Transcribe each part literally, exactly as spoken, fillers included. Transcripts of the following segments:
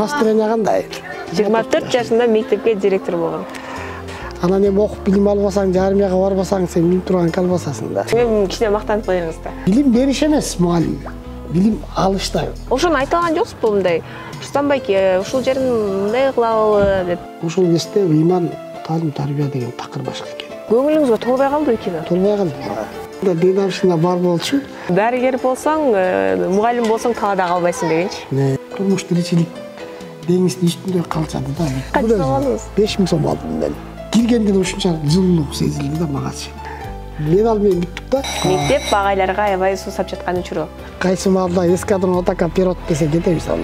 Настроение кандай? жыйырма төрт жашында мектепке директор болгон. Анан эми окуп билим албасаң, армияга барбасаң, сен билим турганга калбасасың да. Мен кичине мактанып коюңуз да. Билим бериш эмес, мугалим. Билим алышта. Ошону айта алган жоксузбу мындай? Рустамбай, ушул жерин мындай кылалы деп. Ушул кезде ыйман, таалим, тарбия деген такыр башка экен. Көңүлүңүзгө толбой калдыбы кино? Толбой калды. Да дедамшында бар болчу. Дарыгер болсоң, мугалим болсоң талаада калбайсың дегенчи. Не, турмуш тиричилик деңиздин үстүндө калчады да. Канча сом алдыңыз? беш миң сом алдым мен. Киргенде ушунча жылуулук сезилди да магачы. Мен ал менен бүттүк да. Мектеп багайларга аябай суусап жаткан учуру. Кайсы маалда эскадрон атака пирот десе кетебиз ал.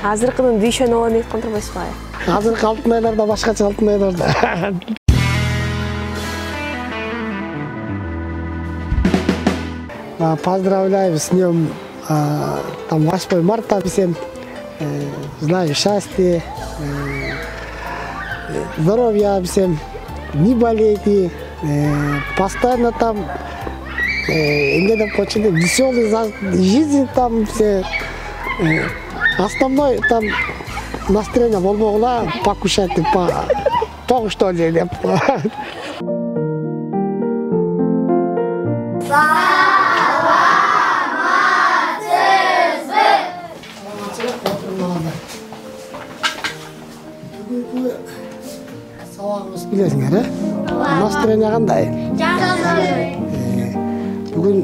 Азыркынын дүйшөнү алып айткан турбайсызбы? Азыркы алтын айларда башкача алтын айларда. Поздравляю с днем там восьмое марта всем. Желаю счастья, здоровья всем, не болейте, постоянно там веселый жизнь там все. Основной там настроение болбогула покушайте по то, что ли. Сабагыбыз билесиңер, э? Настроение кандай? Жакшы. Бүгүн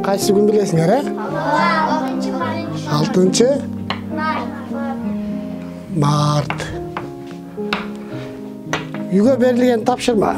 кайсы күн билесиңер, э? алтынчы март. Үйгө берилген тапшырма.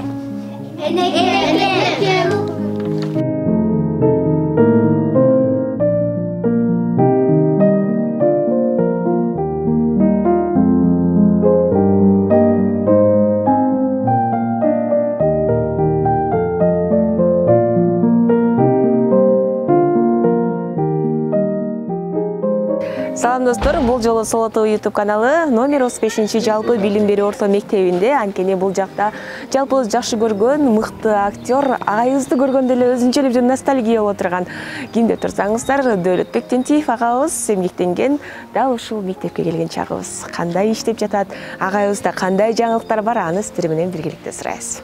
Салам достор, бул жолу Солото YouTube каналы номер отуз бешинчи жалпы билим берүү орто мектебинде. Анткени бул жакта жалпыбыз жакшы көргөн мыкты актер агайыбызды көргөндө эле өзүнчөлүк бир ностальгия боло турган кимде турсаңыздар, Дөөлөтбек Тентиев агабыз эмгектенген дал ушул мектепке келген чагыбыз. Кандай иштеп жатат, агайыбызда кандай жаңылыктар бар, аны сиздер менен биргеликте сурайбыз.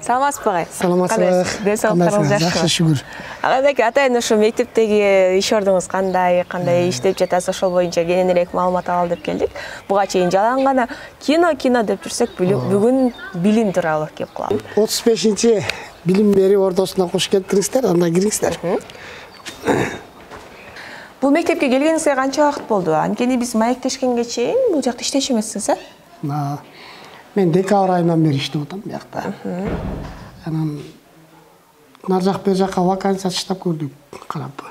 Саламатсызбы агай? Саламатсызбы. Денсаулыктарыңыз жакшыбы? Жакшы, шүгүр. Агайдеки атайын ушу мектептеги иш ордуңуз кандай, кандай иштеп жатасыз, ошол боюнча кененирээк маалымат алалы деп келдик. Буга чейин жалаң гана кино кино деп жүрсөк, бүгүн билим тууралуу кеп кылалы. отуз бешинчи билим берүү ордосуна кош келиңиздер, анда кириңиздер. Бул мектепке келгениңизге канча убакыт болду? Анткени биз маектешкенге чейин бул жакта иштечү эмессиз, э? Мен декабрь айынан бери иштеп атам bu жакта. Анан нар жак бер жакка вакансия таштап көрдүк, карап.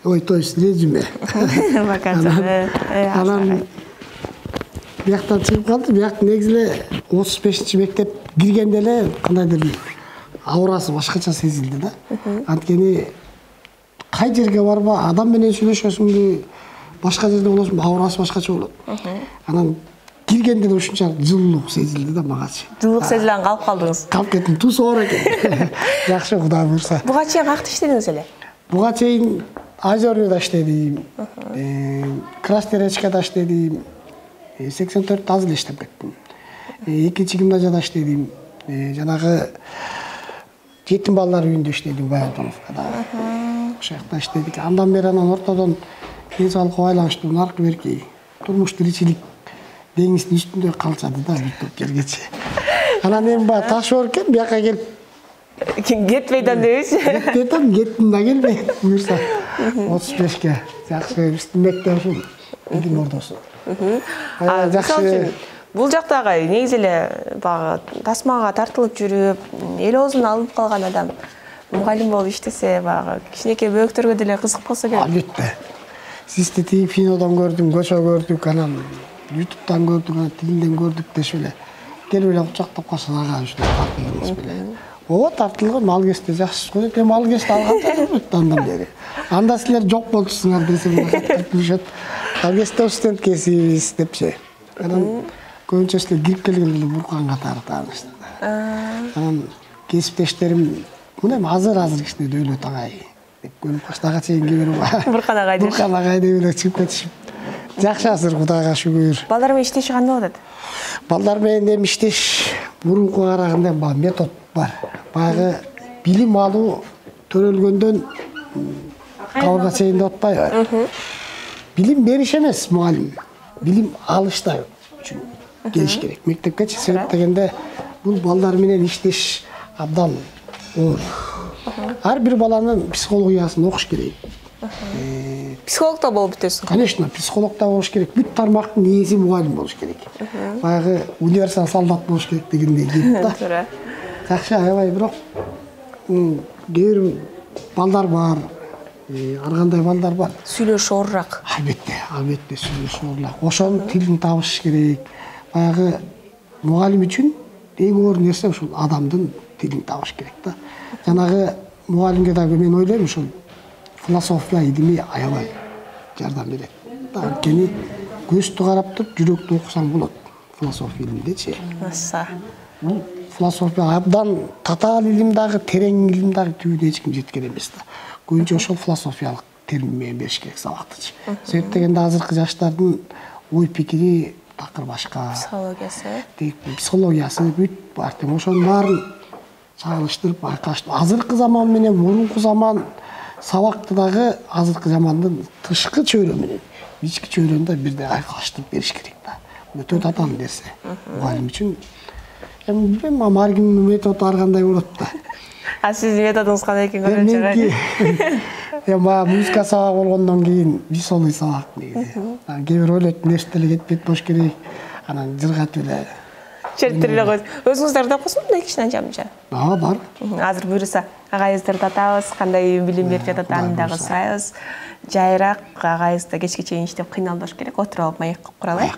Ой, то есть резюме. Вакансия. Анан bu жактан чыгып калды. Bu жак негизи эле отуз бешинчи мектеп киргенде эле кандайдыр аурасы башкача сезилди да. Анткени кай жерге барба, адам менен сүйлөшөсүңбү, башка жерде болосуңбу, аурасы башкача болот. Анан киргенде да ушунча жылуулук сезилди да магачы. Жылуулук сезилген калып калдыңыз. Калып кеттим, туз оор экен. Жакшы, Кудай буйрса. Буга чейин каякта иштедиңиз эле? Буга чейин Озерныйда иштедим, Красноярскада иштедим, сексен төрт аз эле иштеп кеттим. Экинчи гимназияда иштедим, жанагы жетим балдар үйүндө иштедим, Баянтоновкада. Ошол жакта иштедик. Андан бери анан ортодон ден соолукка байланыштуу наркы берки турмуш тиричилик деңиздин үстүндө калчады да бүттүп келгечи. Анан эми баа таш оор экен, бияка келип кетпейт ам дебейсиз? Кетпейт ам, кеттим да келбейт. Буюрса отуз бешке жакшы биздин мектеп ушул билим ордосу. Жакшы. Бул жакта агай негизи эле баягы тасмага тартылып жүрүп, эл оозун алып калган адам мугалим болуп иштесе, баягы кичинекей бөөктөргө деле кызык болсо керек. Албетте. Сизди тиги кинодон көрдүм, көчө көрдүк, анан ютубтан көрдүк, тилинден көрдүк дешип эле келип эле кучактап калсаң ага ушундай тартылдыңыз беле. Ооба, тартылган, ал кезде жакшы көрөт, эми ал кезде алган да андан бери. Анда силер жок болчусуңар десем кылышат. Ал кезде студент кесибиз депчи. Анан көбүнчө силер кирип келгенде эле буркан катары тааныштыр. Анан кесиптештерим мына азыр-азыр кичине Дөөлөт агай деп көнүп калышты. Ага чейин кээ Буркан агай деп. Буркан агай деп эле чыгып кетишип. Жакшы азыр Кудайга шүгүр. Балдар менен иштеши кандай болот? Балдар менен эми иштеш мурунку караганда баягы метод бар. Баягы билим алуу төрөлгөндөн кабылга чейин деп атпайбы? Билим бериш эмес мугалим. Билим алышта үчүн келиш керек. Мектепкечи себеп дегенде бул балдар менен иштеш абдан оор. Ар бир баланын психологиясын окуш керек. Психолог да болуп бүтөсүң. Конечно, психолог да болуш керек. Бүт тармактын ээси мугалим болуш керек. Баягы универсал солдат болуш керек дегендей кеп да. Туура. Жакшы аябай, бирок кээ бир балдар бар, ар кандай балдар бар. Сүйлөшү оорураак. Албетте, албетте сүйлөшү оорураак. Ошонун тилин табыш керек. Баягы мугалим үчүн эң оор нерсе ушул адамдын тилин табыш керек да. Жанагы мугалимге дагы мен ойлойм ушул философия илими аябай жардам берет. Анткени көздү карап туруп жүрөктү окусаң болот. Философия илимдечи. Аса. Бул философия абдан татаал илим дагы, терең илим дагы түбүнө эч ким жеткен эмес да. Көбүнчө ошол философиялык термин менен бериш керек сабактычы. Себеп дегенде азыркы жаштардын ой пикири такыр башка. Психологиясы. Психологиясы бүт бар. Ошонун баарын чагылыштырып айкаштырып, азыркы заман менен мурунку заман сабакты дагы азыркы замандын тышкы чөйрө менен ички чөйрөнү да бирдей айкаштырып бериш керек да. Өтө татаал нерсе. Мугалим үчүн эми билбейм, ар кимдин методу ар кандай болот да. А сиздин методуңуз кандай экен көргөнчө кайсы? Эми баягы музыка сабагы болгондон кийин веселый сабак негизи. Кээ бир ойлойт, нерсе деле кетпейт болуш керек. Анан жыргатып эле чертип эле койдук. Өзүңүз тартып койсоңузбу мындай кичине жамча? А, бар. Азыр буюрса агайыбызды татабыз, кандай билим берип жатат аны дагы сурайбыз. Жайыраак агайыбыз да кечке чейин иштеп кыйналбаш керек. Отуруп алып маек кылып куралы.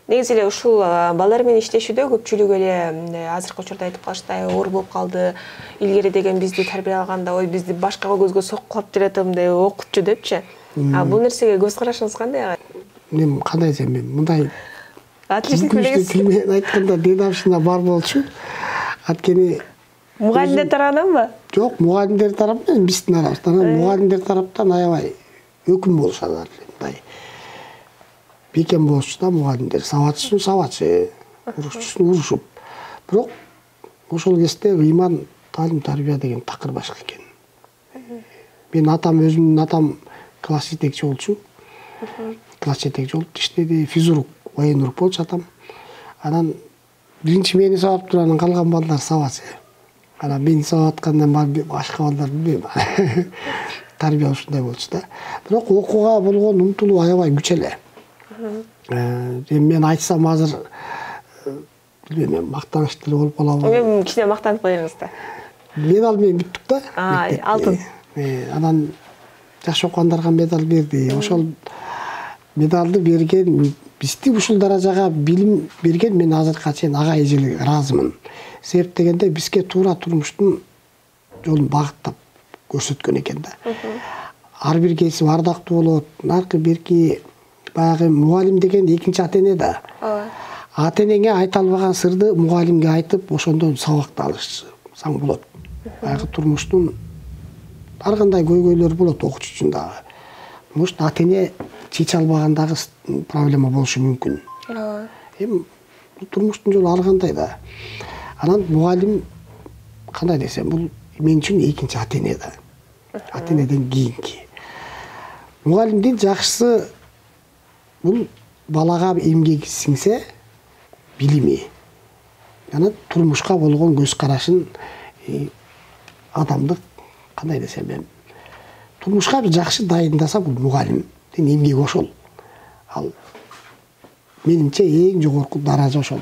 Негизи эле ушул балдар менен иштешүүдө көпчүлүк эле азыркы учурда айтып калыштай оор болуп калды. Илгери деген бизди тарбия алганда, ой бизди башка көзгө соккулап берет мындай окутчу депчи. А бул нерсеге көз карашыңыз кандай? Мен кандай десем, мен мындай отлично билесиз. Мен айтканда дедовщина бар болчу. Анткени мугалимдер тарабынан Жок, мугалимдер тарабынан биздин арабыздан, мугалимдер тараптан аябай өкүм болушат мындай. Бекем болушу да мугалимдер, сабатчысын сабатчы, урушчусун урушуп. Бирок ошол кезде ыйман, таалим, тарбия деген такыр башка экен. Мен атам, өзүмдүн атам класс жетекчи болчу. Класс жетекчи болуп иштеди, физрук, военрук болчу атам. Анан биринчи мени сабап туруп, анан калган балдар сабачы. Анан мени сабап аткандан башка балдар билбейм. Тарбия ушундай болчу да. Бирок окууга болгон умтулуу аябай күч эле. Мен айтсам азыр билбейм, мактаныштуу болуп калабы. Эми кичине мактанып коюңуз да. Медаль менен бүттүк да. Алтын. Анан жакшы окугандарга медаль берди. Ошол медалды берген, бизди ушул даражага билим берген мен азыркыга чейин ага эжелерге ыраазымын. Себеп дегенде бизге туура турмуштун жолун багыттап көрсөткөн экен да. Ар бир кесип ардактуу болот. Наркы берки баягы мугалим деген экинчи ата эне да. Ата энеңе айта албаган сырды мугалимге айтып, ошондон сабакты алышсаң болот. Баягы турмуштун ар кандай көйгөйлөр болот окуучу үчүн дагы. может ата эне чече албагандагы проблема болушу мүмкүн. Эми турмуштун жолу ар кандай да. Анан мугалим кандай десем, бул мен үчүн экинчи ата эне да. Ата энеден кийинки. Мугалимдин жакшысы бул балага эмгеги сиңсе, билими, жана турмушка болгон көз карашын, адамдык кандай десем эми, турмушка бир жакшы дайындаса бул мугалимдин эмгеги ошол. Ал менимче эң жогорку даража ошол.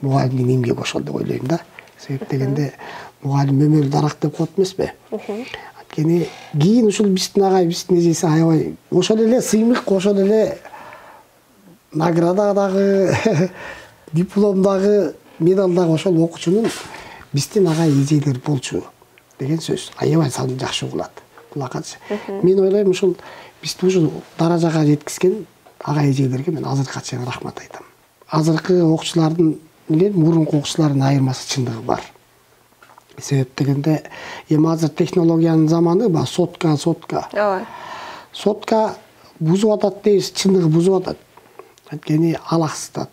Мугалимдин эмгеги ошол деп ойлойм да. Себеп дегенде мугалим өмүр дарак деп коет эмеспи? Анткени кийин ушул биздин агай, биздин эжеси аябай ошол эле сыймык, ошол эле наградадагы, дипломдагы, медалдагы ошол окуучунун биздин агай эжелер болчу деген сөз. Аябай саны жакшы угулат. Кулакачы. Мен ойлойм ушул бизди ушул даражага жеткизген агай эжелерге мен азыркыга чейин рахмат айтам. Азыркы окуучулардын менен мурунку окуучулардын айырмасы чындыгы бар. Себеп дегенде эми азыр технологиянын заманы, ба сотка, сотка. Ооба. Сотка бузуп атат дейбиз, чындыгы бузуп атат. Анткени алаксытат.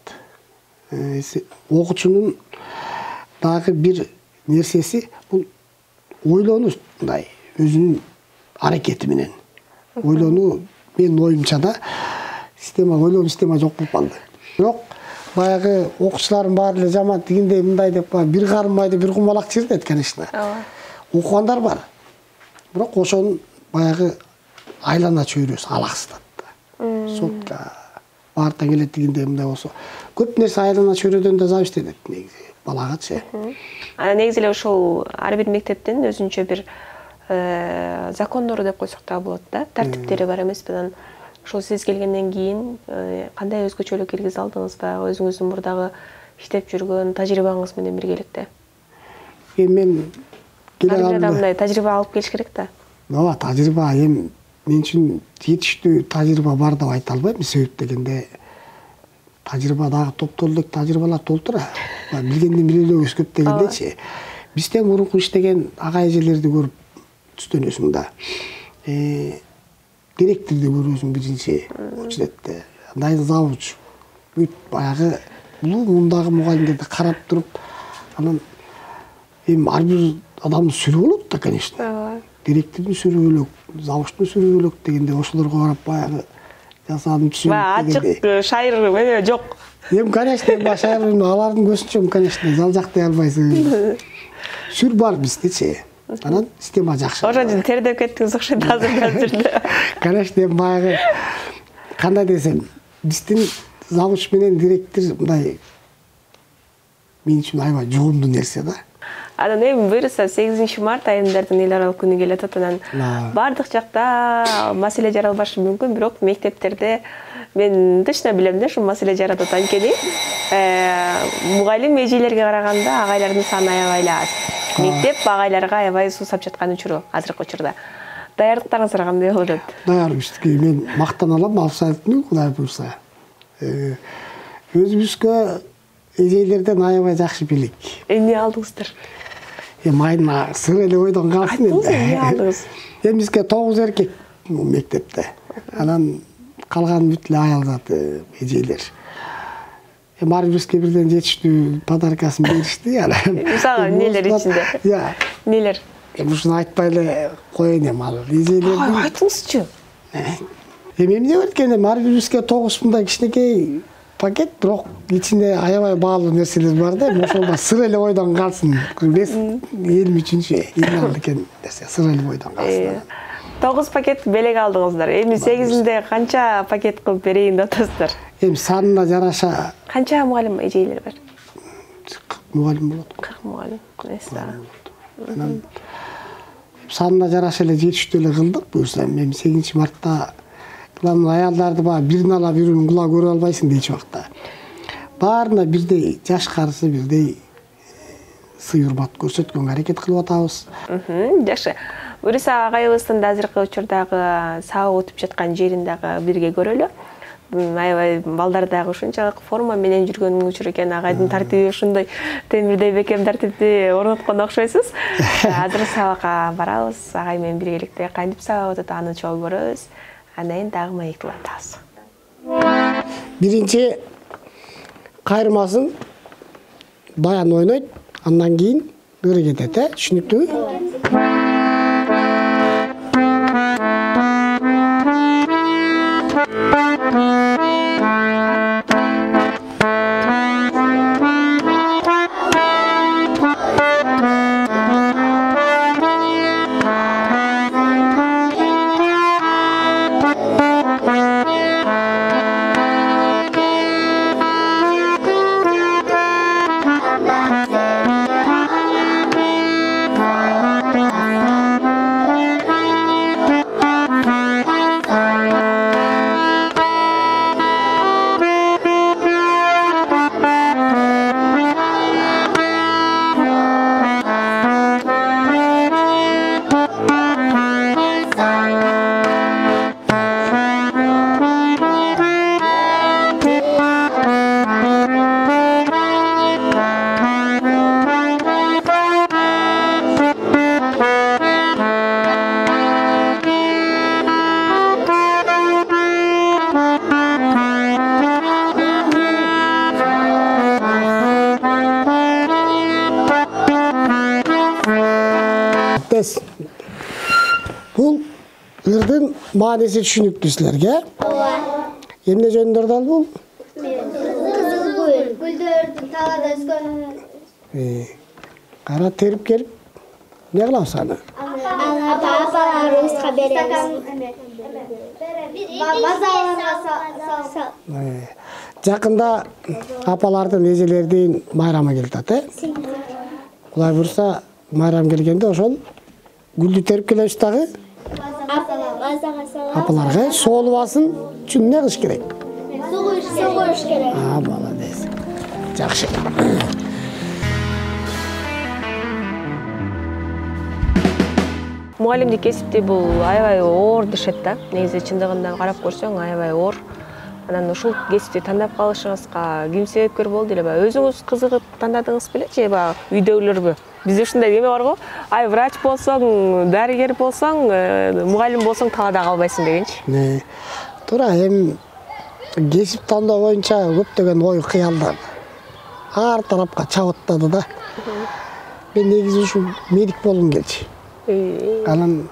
Окуучунун дагы бир нерсеси бул ойлонуу, мындай өзүнүн аракети менен. Ойлонуу, менин оюмча да, система, ойлонуу система жок болуп калды. Бирок баягы окуучулардын баары эле жаман тигиндей мындай деп бир кармайды, бир кумалак чирдет, конечно. Окугандар бар. Бирок ошонун баягы айлана чөйрөсү алаксытат. Сотка баарта келет дегенде мындай болсо, көп нерсе айлана чөйрөдөн да зависит этет негизи балагачы. Анан негизи эле ошол ар бир мектептин өзүнчө бир закондору деп койсок да болот да, тартиптери бар эмеспи? Анан ошол сиз келгенден кийин кандай өзгөчөлүк киргизе алдыңызбы? Өзүңүздүн мурдагы иштеп жүргөн тажрыйбаңыз менен биргеликте. Эми мен келе калганда мындай тажрыйба алып келиш керек да. Ооба, тажрыйба эми мен үчүн жетиштүү тажрыйба бар деп айта албайм. Себеп дегенде тажрыйба дагы топтор элек тажрыйбалар толтура. Билгенден билелөө өскөп дегендечи. Бизден мурунку иштеген ага эжелерди көрүп түстөнөсүң да. Директорду көрөсүң биринчи учретте. Андай завуч. Бүт баягы бул мундагы мугалимдерди карап туруп, анан эми ар бир адамдын сүрү болот да, конечно. Директордун сүрү бөлөк, завучтун сүрү бөлөк дегенде ошолорго карап баягы жасадым түшүнүп дегенде. Ачык шайыр эмне жок. Эми конечно, эми шайыр алардын көзүнчө, конечно, жалжактай албайсың. Сүр бар биздечи. Анан система жакшы. Ошон үчүн тердеп кеттиңиз окшойт азыр. Конечно, баягы кандай десем, биздин завуч менен директор мындай мен үчүн аябай жогумдуу нерсе да. Анан эми буюрса сегизинчи март айымдардын эл аралык күнү келе атат. Анан бардык жакта маселе жаралбашы мүмкүн, бирок мектептерде мен точно билем да, ушул маселе жаратат. Анткени мугалим эжелерге караганда агайлардын саны аябай аз. Мектеп агайларга аябай суусап жаткан учуру азыркы учурда. Даярдыктарыңыздар кандай болуп атат? Даярбызбы. Мен мактана алам, абсолютно, Кудай буйрса. Өзүбүзгө эжелерден аябай жакшы билик. Эмне алдыңыздар? Эми айына сыр эле ойдон калсын эле. Эмне алдыңыз? Эми бизге тогуз эркек мектепте. Анан калган бүт эле аял заты эжелер. Эми ар бирибизге бирден жетиштүү подаркасын беришти. Мисалы нелер ичинде? Я. Нелер? Эми ушуну айтпай эле коеюн эми ал эжелердин. Айтыңызчы. Эми эмне бар экен, эми ар бирибизге тогуз мындай кичинекей пакет, бирок ичинде аябай баалуу нерселер бар да. Ошол сыр эле ойдон калсын. Бес элүү үчүнчү эң алыкен нерсе сыр эле ойдон калсын. тогуз пакет белек алдыңыздар. Эми сегизинде канча пакет кылып берейин деп атасыздар? Эми санына жараша. Канча мугалим эжелер бар? Мугалим болот. кырк мугалим. Анан санына жараша эле жетиштүү эле кылдык. Буюрса эми сегизинчи мартта кылган аялдарды баягы бирин ала бирин кула көрө албайсың дейчи убакта. Баарына бирдей жаш карысы, бирдей сый урмат көрсөткөнгө аракет кылып атабыз. Жакшы. Буюрса агайыбыздын да азыркы учурдагы сабак өтүп жаткан жерин дагы бирге көрөлү. Аябай балдар дагы ушунчалык форма менен жүргөн учур экен. Агайдын тартиби ушундай темирдей бекем тартипти орноткон окшойсуз. Азыр сабакка барабыз. Агай менен биргеликте кантип сабак өтөт аны чогуу көрөбүз. андан кийин дагы маектеп атабыз. Биринчи кайрмасын баян ойнойт, андан кийин ыры кетет, э? Түшүнүктүүбү? Бул ырдын мааниси түшүнүктүү силерге? Ооба. Эмне жөнүндө дал бул? Кызыл гүл, гүлдөрдүн талаада өскөн. Кара терип келип, эмне кылабыз аны? Аны апаларыбызга беребиз. Базарларга салып. Жакында апалардын, эжелердин майрамы келип атат, э? Кудай буйрса, майрам келгенде ошол гүлдү терип келебиз дагы. Апаларга соолубасын үчүн эмне кылыш керек? Суу куюш керек. А, молодец. Жакшы. Мугалимдик кесипти бул аябай оор дешет да. Негизи чындыгында карап көрсөң аябай оор. Анан ушул кесипти тандап калышыңызга ким себепкер болду эле? Өзүңүз кызыгып тандадыңыз беле же баягы үйдөгүлөрбү? Бизде ушундай неме бар го. Ай, врач болсоң, дарыгер болсоң, мугалим болсоң талаада калбайсың дегенчи. Не. Туура, эми кесип тандоо боюнча көптөгөн ой кыялдар ар тарапка чабыттады да. Мен негизи ушу медик болгум келчү. Анан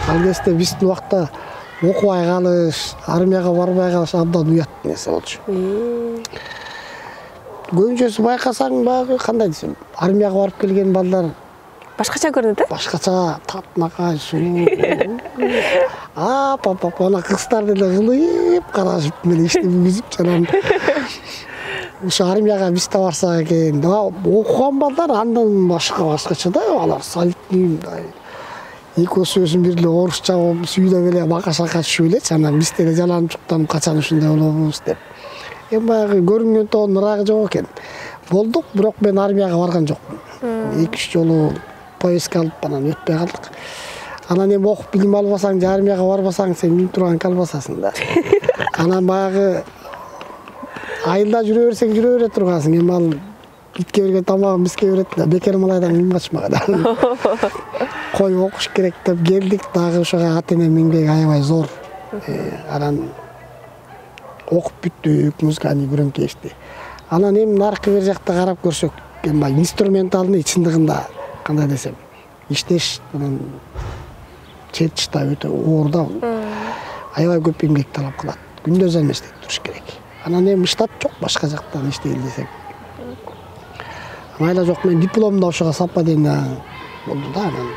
ал кезде биздин убакта окубай калыш, армияга барбай калыш абдан уят нерсе болчу. Көбүнчөсү байкасаң баягы кандай десем, армияга барып келген балдар башкача көрүнөт, э? Башкача, татнакай, сулуу. А, папа, ана кыздар деле кылып карашып менен иштеп үзүп жанан. Ушу армияга биз да барсак экен. Окуган балдар андан башка башкача да, алар солидный. Экөөсүбүздүн бирге орусча сүйдө беле бака-шака түшүп элечи, анан биз деле жаланып чуктанып качан ушундай болобуз деп. Эми баягы көрүнгөн тоонун ырагы жок экен. Болдук, бирок мен армияга барган жокмун. эки үч жолу поездка алып анан өтпөй калдык. Анан эми окуп билим албасаң, же армияга барбасаң, сен минип турган калбасасың да. Анан баягы айылда жүрө берсең жүрө бере тургансың. Эми ал итке берген тамагын бизге берет да, бекер малайдан ким качмаган. Кой окуш керек деп келдик, дагы ошого ата-энем эмгеги аябай зор. Анан окуп бүттүк, музыкальный громкий ишти. Анан эми наркы бер жакта карап көрсөк, эми инструментальный чындыгында кандай десем, иштеш анан чечта өтө оор да. Аябай көп эмгек талап кылат. Күндөз эмес иштеп туруш керек. Анан эми штат жок, башка жактан иштейли десек. Майла жок, мен дипломду ошого совпадение болду да, анан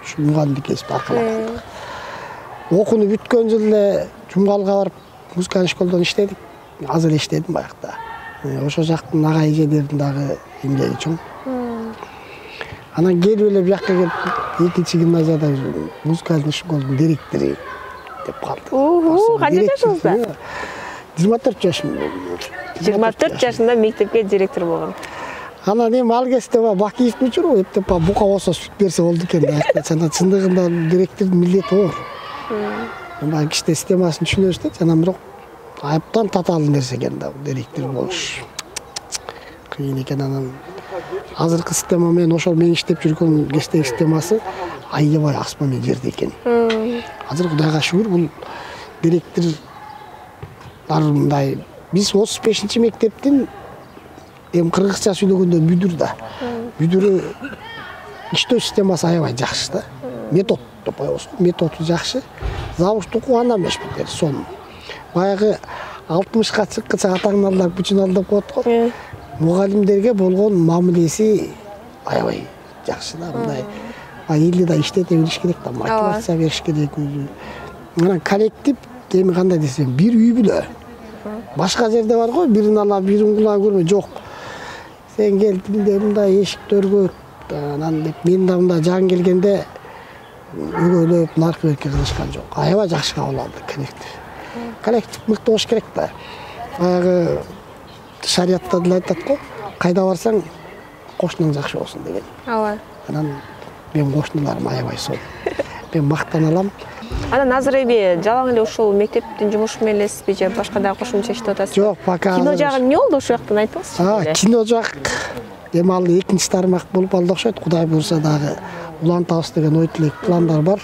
ушу мугалимдик кесип аркалаган. Окууну бүткөн жылы эле Жумгалга барып музыкалык школдон иштедик. Азыр иштедим баягыда. Ошо жактын ага эжелердин дагы эмгеги чоң. Анан келип эле бияка келип, экинчи гимназияда музыкалык школдун директору деп калды. Ого, канча жашыңызда? жыйырма төрт жашым. жыйырма төрт жашында мектепке директор болгон. Анан эми ал кезде Бакиевдин учуру эптеп бука болсо сүт берсе болду экен да. Жана чындыгында директордун милдети оор. Эми кичте системасын түшүнөбүз да, жана бирок айыптан татаал нерсе экен да директор болуш. кыйын экен. Анан азыркы система менен ошол мен иштеп жүргөн кечтеги системасы аябай асман менен жерде экен. Азыр Кудайга шүгүр бул директорлор мындай биз отуз бешинчи мектептин эми кыргызча сүйлөгөндө бүдүр да. Бүдүрү иштөө системасы аябай жакшы да. Метод деп коебуз. Методу жакшы. Завуч окуу андан эмес битер. Сон баягы алтымышка чыккыча атаңналар бүчүн алдап коет го. Мугалимдерге болгон мамилеси аябай жакшы да. Мындай элди да иштете билиш керек да, мотивация бериш керек өзү. Анан коллектив эми кандай десем, бир үй бүлө. Башка жерде бар го, бирин ала, бирин кула көрбөй, жок. Сен кел тилде мындай эшиктөргө, анан деп мен да мындай жан келгенде өгөйлөп, наркы берке кылышкан жок. Аябай жакшы кабыл алды коллектив. Коллектив мыкты болуш керек да. Баягы шариятта деле айтат го, кайда барсаң кошунуң жакшы болсун деген. Ооба. Анан мен кошуналарым аябай сол. Мен мактана алам. Анан азыр эми жалаң эле ушул мектептин жумушу менен элесизби же башка дагы кошумча иштеп атасызбы? Жок, пока. Кино жагы эмне болду ушул жактан айтыңызчы? А, кино жак эми ал экинчи тармак болуп алды окшойт. Кудай буйрса дагы улантабыз деген ой тилек пландар бар.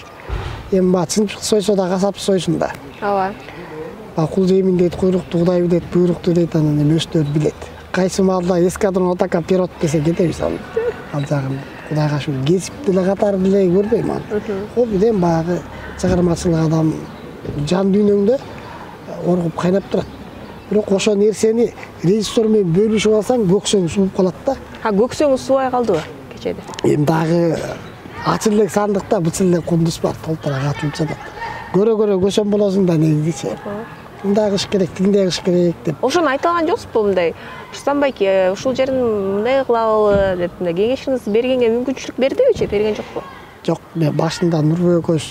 Эми ба чынчык сойсо да касап сойсун да. Ооба. Ба кул жеймин дейт, куйрукту Кудай дейт, буйрукту дейт, анан эми өстөр билет. Кайсы маалда эскадрон атака пирот десе кетебиз ал. Ал жагын Кудайга шүгүр кесип деле катары деле көрбөйм аны. Ол биден баягы чыгармачылык адам жан дүйнөңдө оргуп кайнап турат. Бирок ошол нерсени режиссер менен бөлүшүп алсаң көксөң сууп калат да. А көксөңүз суубай калдыбы кечеде? Эми дагы ачыл элек сандыкта бычыл элек кундуз бар, толтура катып жатат. Көрө-көрө көсөм болосуң да негизичи. Мындай кыш керек, тигиндей кыш керек деп. Ошону айта алган жоксузбу мындай? Штамбайке ушул жерин мындай кылалы деп мындай кеңешиңизди бергенге мүмкүнчүлүк бердибичи, берген жокпу? Жок, мен башында Нурбек көз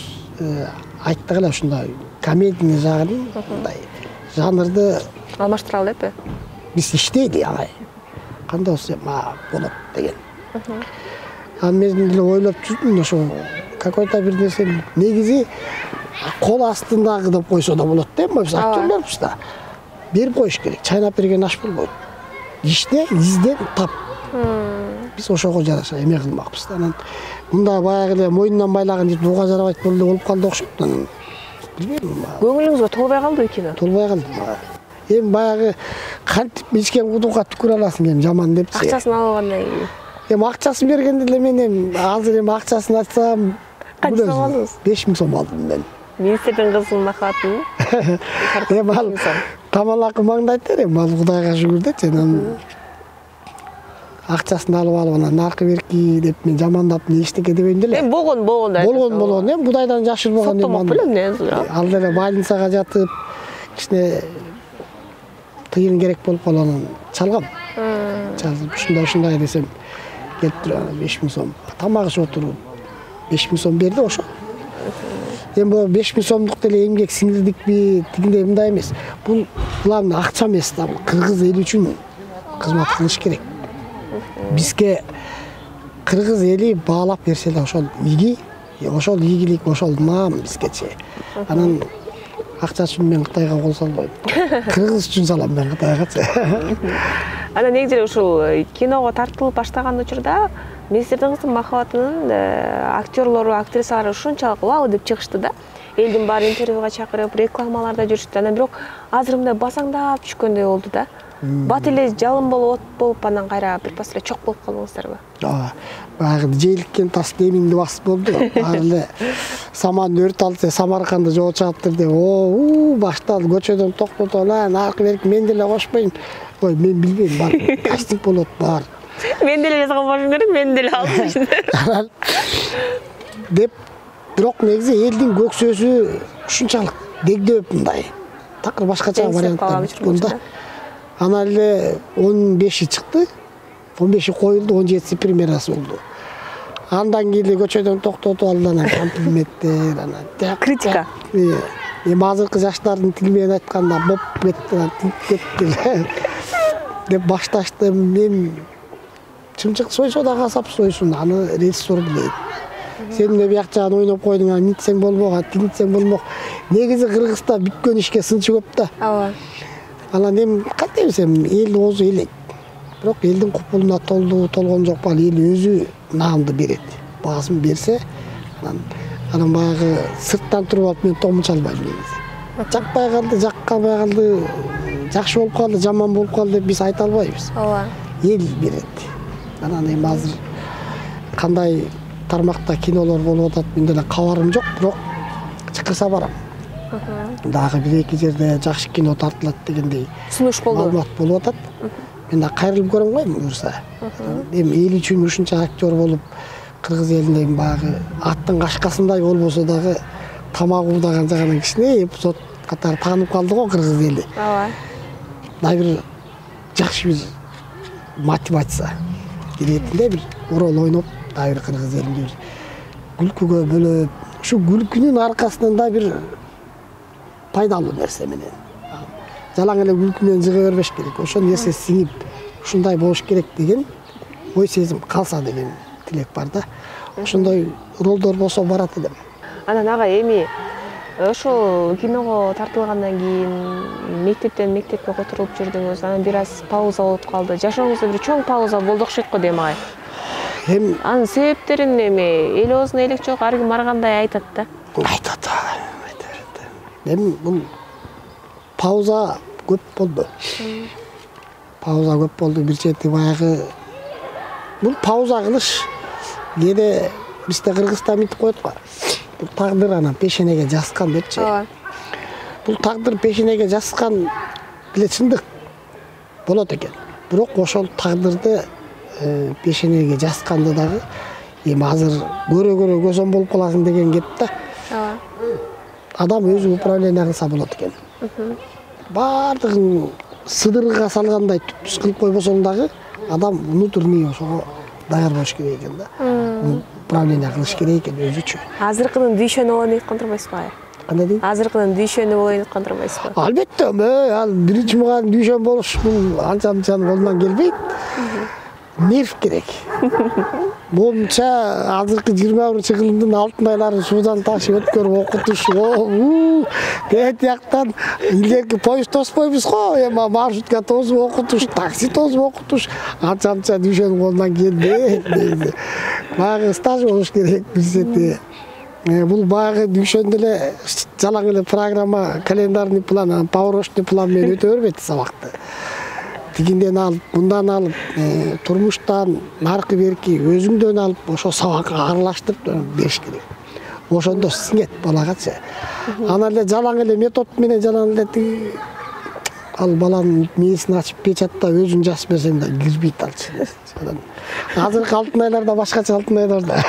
айттык эле ушундай комедийный жагын, мындай жанрды алмаштыралы деппи? Биз иштейли агай. Кандай болсо ма болот деген. Анан мен деле ойлоп жүрдүм ошо какой-то бир нерсе негизи кол астындагы деп койсо да болот да, биз актерлорбуз да. Берип коюш керек, чайнап берген аш болбойт. Иште, изден тап. Биз ошого жараша эме кылмакпыз да. Анан мындай баягы эле мойнунан байлаган жер буга жарабайт болду болуп калды окшойт. Анан билбейм. Көңүлүңүзгө толбой калдыбы кино? Толбой калды. Эми баягы кантип ичкен кудукка түкүрө аласың эми жаман депчи. Акчасын алгандан кийин. Эми акчасын бергенде эле мен эми азыр эми акчасын айтсам канча сом алдыңыз? беш миң сом алдым мен. Министрдин кызынын махабатын. Эми ал камалакы маңдайт эми ал Кудайга шүгүр дечи. Анан акчасын алып алып анан наркы берки деп мен жамандап не эчтеке дебейм деле. Эми болгон болгон да. Болгон болгон эми Кудайдан жашырбаган эми. Соттомок белем эмне? Ал деле больницага жатып кичине тыйын керек болуп калып анан чалгам. Чалып ушундай ушундай десем келип туруп беш миң сом. Тамак ичип отуруп беш миң сом берди ошо. Эми бул беш миң сомдук деле эмгек сиңирдикпи, тигиндей мындай эмес. Бул главный акча эмес да, кыргыз эли үчүн кызмат кылыш керек. Бизге кыргыз эли баалап берсе да ошол иги, ошол ийгилик, ошол наам бизгечи. Анан акча үчүн мен Кытайга кол салбайм. Кыргыз үчүн салам мен Кытайгачы. Анан негизи эле ушул киного тартылып баштаган учурда министрдин кызынын махабатынын актерлору, актрисалары ушунчалык вау деп чыгышты да. Элдин баары интервьюга чакырып, рекламаларда жүрүштү. Анан бирок азыр мындай басаңдап түшкөндөй болду да. Бат эле жалын болуп, от болуп, анан кайра бир пас эле чок болуп калдыңыздарбы? Ооба. Баягы жээликкен тас демиңди басып болду. Баары эле саман өрт алса, Самарканды жоо чаптыр деп, оо, башталды көчөдөн токтотуп, наркы берип мен деле кошпойм. Ой, мен билбейм, бар. Кастинг болот, бар. Мен деле жазган болушум керек, мен деле алдым. Деп, бирок негизи элдин көксөсү ушунчалык дегдөп мындай. Такыр башкача варианттар бүткөн да. Анан эле он беши чыкты. он беши коюлду, он жетиси премьерасы болду. Андан кийин көчөдөн токтотуп алды, анан комплименттер, анан критика. Эми азыркы жаштардын тили менен айтканда боп кетти, тип кетти деп башташты. Мен чымчык сойсо да касап сойсун, аны режиссер билет. Сен эмне бияк жагын ойноп койдуң, нитсең болбок, тигинтсең болмок. Негизи Кыргызда бүткөн ишке сынчы көп да. Ооба. Анан эми кантип десем, эл оозу элек. бирок элдин купулуна толду толгон жок. Ал эл өзү наамды берет. Баасын берсе, анан анан баягы сырттан туруп алып мен томун чалбайм негизи. Жакпай калды, жаккабай калды, жакшы болуп калды, жаман болуп калды деп биз айта албайбыз. Ооба. Эл берет. Анан эми азыр кандай тармакта кинолор болуп атат мен деле кабарым жок, бирок чакырса барам. Дагы бир эки жерде жакшы кино тартылат дегендей Сунуш болду. Маалымат болуп атат. Мен да кайрылып көрөм го буюрса. Эми эл үчүн ушунча актер болуп, кыргыз элинде баягы аттын кашкасындай болбосо дагы тамак уудаган жагынан кичине эпизод катары таанып калды го кыргыз эли. Ооба. Мына бир жакшы бир мотивация иретинде бир роль ойноп, дагы бир кыргыз элинде бир күлкүгө бөлөп, ушу күлкүнүн аркасынан да бир пайдалуу нерсе менен. Жалаң эле күлкү менен жыга бербеш керек. Ошол нерсе сиңип, ушундай болуш керек деген ой сезим калса деген тилек бар да. Ошондой ролдор болсо барат элем. Анан ага эми ошол киного тартылгандан кийин мектептен мектепке которулуп жүрдүңүз. Анан бир аз пауза болуп калды. Жашооңузда бир чоң пауза болду окшойт го дейм агай. Эми Анын себептерин эми эл оозуна элек жок, ар ким ар кандай айтат да. айтат, айта берет. Эми бул пауза көп болду. Пауза көп болду. Бир чети баягы бул пауза кылыш кээде бизде Кыргызда мынтип коет го. Бул тагдыр анан пешенеге жазган депчи. Ооба. Бул тагдыр пешенеге жазган деле чындык болот экен. Бирок ошол тагдырды пешенеге жазганды дагы эми азыр көрө-көрө көзөм болуп каласың деген кеп да. Ооба. Адам өзү управление кылса болот экен. Бардыгын сыдырга салгандай түпсүз кылып койбосоң дагы адам внутренний ошого даяр болуш керек экен да. Управление кылыш керек экен өзүчө. Азыркынын дүйшөнү болоюн деп аткан турбайсызбы? Кандай дейт? Азыркынын дүйшөнү болоюн деп аткан турбайсызбы? Албетте, ал биринчи муган дүйшөн болуш бул анча-мынчанын колунан келбейт. Нерв керек. Момча азыркы жыйырма биринчи кылымдын алтын айлары суудан ташып өткөрүп окутуш. Кет жактан илгерки поезд тоспойбуз го, эми маршрутка тосуп окутуш, такси тосуп окутуш, анча-мынча дүйшөнүн колунан келбейт. Баягы стаж болуш керек бизде. Бул баягы дүйшөн деле жалаң эле программа, календарный план, поворочный план менен өтө бербейт сабакты. Тигинден алып, мындан алып, турмуштан наркы берки өзүңдөн алып, ошо сабакка аралаштырып бериш керек. Ошондо сиңет балагачы. Анан эле жалаң эле метод менен жалаң эле тиги ал баланын мээсин ачып печатта өзүң жазып берсең да кирбейт алчы. Азыркы алтын айларда башкача алтын айларда.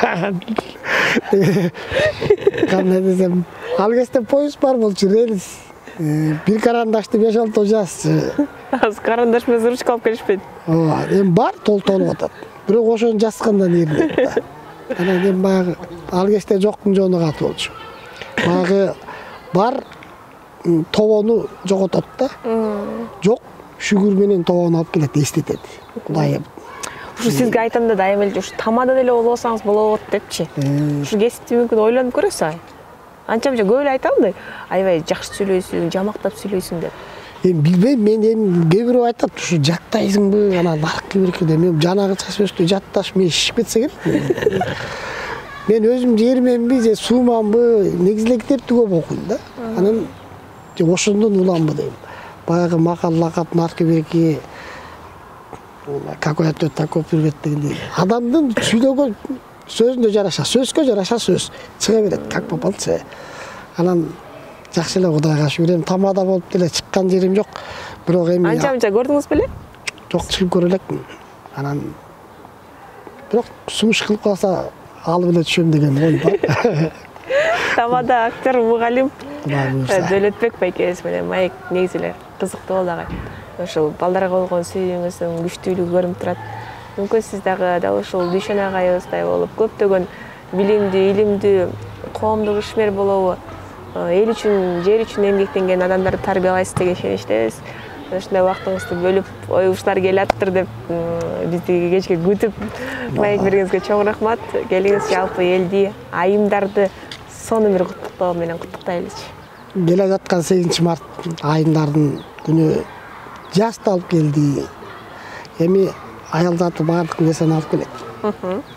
Кандай десем, ал кезде поезд бар болчу, рельс. Бир карандашты беш алты жазчы. Азыр карандаш менен ручка алып келишпейт. Ооба, эми бар толтолуп атат. Бирок ошону жазгандан эринет да. Анан эми баягы ал кезде жоктун жону каты болчу. Баягы бар тобону жоготот да. Жок, шүгүр менен тобону алып келет, эстетет. Кудай Ушу сизге айтам да дайыма эле ушу тамада деле болбосоңуз болот депчи. Ушу кесипти мүмкүн ойлонуп көрөсүз ай. Анча-мынча көп эле айтам да, аябай жакшы сүйлөйсүң, жамактап сүйлөйсүң деп. Эми билбейм, мен эми кээ бирөө айтат, ушу жаттайсыңбы, анан наркы берки деп, мен жанагы чачыбөстү жатташ мен шишип кетсе керек. Мен өзүм жерменби, же сууманбы, негизи эле китепти көп окуйм да. Анан ошондон уламбы дейм. Баягы макал лакап наркы берки какой ответ такой привет дегендей. Адамдын сүйлөгөн сөзүнө жараша, сөзгө жараша сөз чыга берет, как попалчы. Анан жакшы эле Кудайга шүгүр, эми тамада болуп деле чыккан жерим жок. Бирок эми Анча-мынча көрдүңүз беле? Жок, чыгып көрө элекмин. Анан бирок сунуш кылып калса алып эле түшөм деген ой бар. Тамада актер, мугалим Кудай буйрса. Дөөлөтбек байкебиз менен Маек негизи эле кызыктуу болду агай. Ошол балдарга болгон сүйүүңүздүн күчтүүлүгү көрүнүп турат. Мүмкүн сиз дагы дал ушул Дүйшөн агайыбыздай болуп, көптөгөн билимдүү, илимдүү, коомдук ишмер болобу, эл үчүн, жер үчүн эмгектенген адамдарды тарбиялайсыз деген ишеничтебиз. Ушундай убактыңызды бөлүп, ой ушулар келаптыр деп бизди кечке күтүп маек бергениңизге чоң рахмат. Келиңиз жалпы элди, айымдарды сонун бир куттуктоо менен куттуктайлычы. Келе жаткан сегизинчи март айымдардын күнү жаз да алып келди. Эми аял заты баардык нерсени алып келет.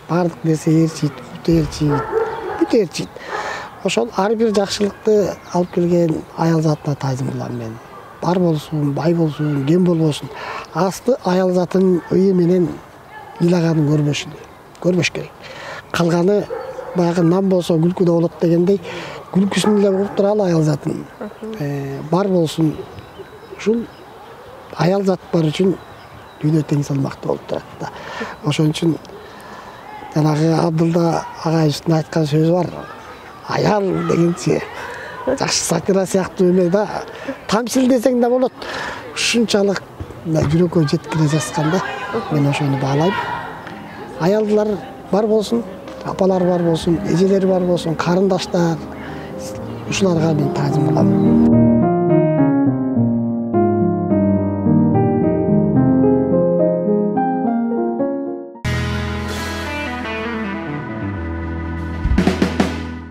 Баардык нерсе ээрчийт, бут ээрчийт, бүт ээрчийт. Ошол ар бир жакшылыкты алып келген аял затына таазим кылам мен. Бар болсун, бай болсун, кем болбосун. Асты аял затынын ыйы менен ыйлаганын көрбөшү, көрбөш керек. Калганы баягы нам болсо күлкү да болот дегендей, күлкүсүн эле угуп туралы аял затын. Бар болсун. Ушул аял зат бар үчүн дүйнө тең салмактуу болуп турат да. Ошон үчүн жанагы Абдылда агайыбыздын айткан сөзү бар. Аял дегенчи жакшы сатира сыяктуу эме да. Тамсил десең да болот. Ушунчалык жүрөккө жеткире жазган да. Мен ошону баалайм. Аялдар бар болсун, апалар бар болсун, эжелер бар болсун, карындаштар. Ушуларга мен таазим кылам.